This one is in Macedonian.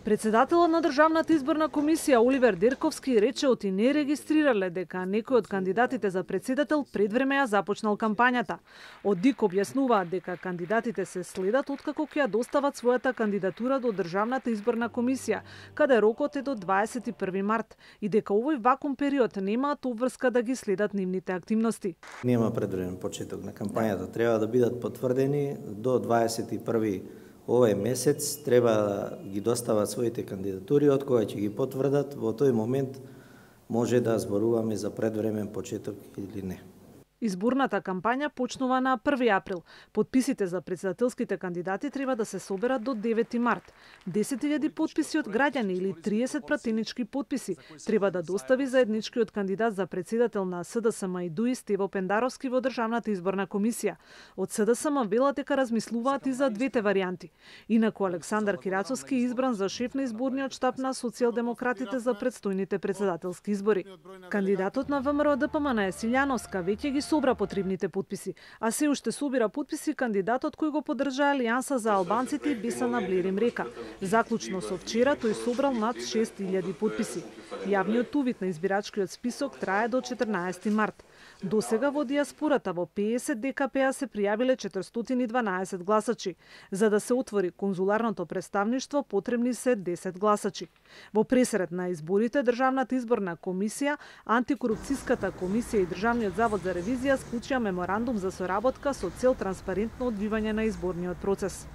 Председателот на Државната изборна комисија Оливер Дерковски рече оти не регистрирале дека некој од кандидатите за председател предвреме ја започнал кампањата. Од ДИК објаснуваат дека кандидатите се следат откако ќе ја достават својата кандидатура до Државната изборна комисија, каде рокот е до 21 март и дека овој вакуум период немаат обврска да ги следат нивните активности. Нема предвиден почеток на кампањата, треба да бидат потврдени до 21 овој месец, треба да ги достават своите кандидатури, од кога ќе ги потврдат, во тој момент може да зборуваме за предвремен почеток или не. Изборната кампања почнува на 1 април. Потписите за председателските кандидати треба да се соберат до 9 март. 10.000 потписи од граѓани или 30 пратенички потписи треба да достави заедничкиот кандидат за председател на СДСМ и ДУИ Стево Пендаровски во Државната изборна комисија. Од СДСМ велат дека размислуваат и за двете варијанти. Инаку Александар Кирацовски е избран за шеф на изборниот штаб на социјалдемократите за предстојните председателски избори. Кандидатот на ВМРО ДПМН Силјановска веќе ги собра потребните потписи, а се уште собира потписи кандидатот кој го поддржа Алијанса за албанците Бесана Блерим Река. Заклучно со вчера тој собрал над 6.000 потписи. Јавниот увид на избирачкиот список трае до 14 март. До сега во дијаспората во 50 ДКП-а се пријавиле 412 гласачи. За да се отвори конзуларното представништво потребни се 10 гласачи. Во пресред на изборите Државната изборна комисија, Антикорупцијската комисија и Државниот завод за ревизија склучија меморандум за соработка со цел транспарентно одвивање на изборниот процес.